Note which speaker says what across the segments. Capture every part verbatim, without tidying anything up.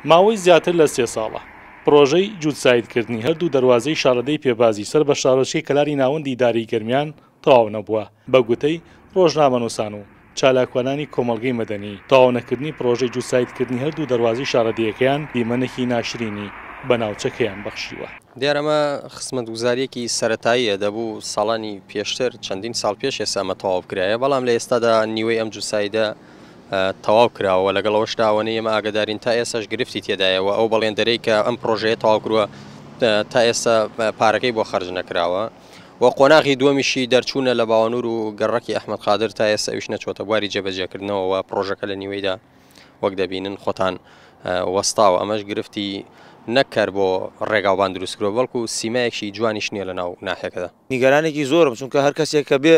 Speaker 1: ماوەی زیاتر لە سێ ساڵە پرۆژەی جووتسایدکردنی هەردوو دەروازەی شارەدێی پێبازی سەر بە شارۆچکەی کەلاری ناوەندی ئیدارەی گەرمیان تەواو نەبووە. بە گوتەی ڕۆژنامەنووسان و چالاکوانانی کۆمەڵگەی مەدەنی، تەواو نەکردنی پرۆژەی جووتسایدکردنی هەردوو دەروازەی شارەدێیەکەیان دیمەنێکی ناشرینی بە ناوچەکەیان بەخشیوە.
Speaker 2: دیارە ئەمە خزمەتگوزاریەکی سەرەتاییە، دەبوو ساڵانی پێشتر چەندین ساڵ پێش ئێستا ئەمە تەواو بکرایە، بەڵام لە ئێستادا نیوەی ئەم جووتسایدە تەواو کراوە. لەگەڵ ئەوەشدا ئەوەنەی ئێمە ئاگادارین تا ئێستاش گرفتی تێدایەوە. ئەو بەڵێندەرەی کە ئەم پرۆژەیە تەواو کردووە تا ئێستا پارەکەی بۆ خەرج نەکراوە و قۆناغی دووەمیشی دەرچوونە لە باوەنور و گەڕەکی ئەحمەد قادر تا ئێستا ئەویش نەچۆتە بواری جێبەجێکردنەوە و پرۆژەکە لە نیوەیدا وەک دەبینن خۆتان وەستاوە. ئەمەش گرفتی نەکرد بۆ ڕێگاوبان دروستکرەوە، بەڵکو سیمایەکی جوانیش نییە لە ناو ناحیەکەدا.
Speaker 3: نیگەرانێکی زۆرم، چونکە هەر کەسێک کە بێ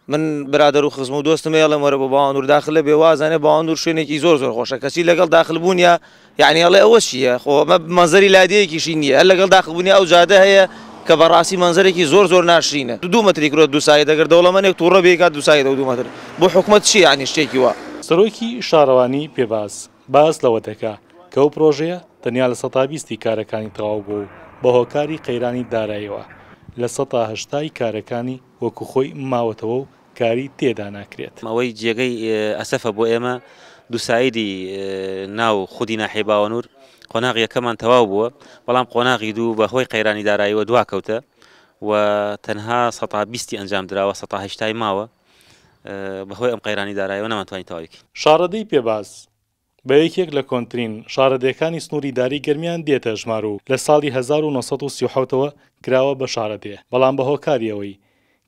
Speaker 3: من برادەر و خزم و دۆستم ئێڵێم وەرە بۆ باوەنور داخلە بێ، وازانێ باوەنور شوێنێکی زۆر زۆر خۆشە، کەچی لەگەڵ داخل بوونیە یعنی ئەڵێ ئەوە چییە؟ خۆ ئەمە مەنزەری لادێیەکیشی نییە. هەر لەگەڵ داخل بوونی ئەو جادە هەیە کە بەڕاستی مەنزەرێکی زۆر زۆر ناشرینە. دوو مەتری کرۆ دوو سایت، ئەگەر دەوڵەمەنێک تووڕە بێکات دوو سایت ئەو دوو مەتر بۆ حکومەت چییە؟ یعنی شتێکی وا.
Speaker 1: سەرۆکی شارەوانی پێباز باس لەوە دەکا کە ئەو پرۆژەیە تەنیا لە سەتا بیستی کارەکانی تەواو بوو و بە هۆکاری قەیرانی داراییەوە لە سەتا هەشتای کارەکانی وەکو خۆی ماوەتەوە و کاری تێدا ناکرێت.
Speaker 4: ئەوەی جێگەی ئەسەفە بۆ ئێمە دووسایدی ناو خودی ناحیەی باوەنور قۆناغی یەکەمان تەواو بووە، بەڵام قۆناغی دوو بە هۆی قەیرانی داراییەوە دوا کەوتە و تەنها سەتا بیستی ئەنجام دراوە، سەتا هەشتای ماوە. بەهۆی ئەم قەیرانی داراییەوە نەمانتوانی تەواوی بکەین.
Speaker 1: شارەدێی پێباز بە یەکێک لە کۆنترین شارەدێکانی سنووری داری گەرمیان دێتە ژمار و لە ساڵی هەزار و نۆ سەد و سی و حەوتەوە کراوە بە شارەدێ، بەڵام بە هۆکاری ئەوەی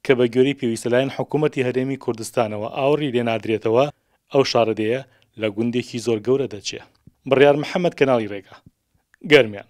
Speaker 1: کە بە گوێرەی پێویستە لایەن حکوومەتی هەرێمی کوردستانەوە ئاوڕی لێ نادرێتەوە، ئەو شارەدێیە لە گوندێکی زۆر گەورە دەچێ. بڕیار محەممەد، کەناڵی ڕێگا، گەرمیان.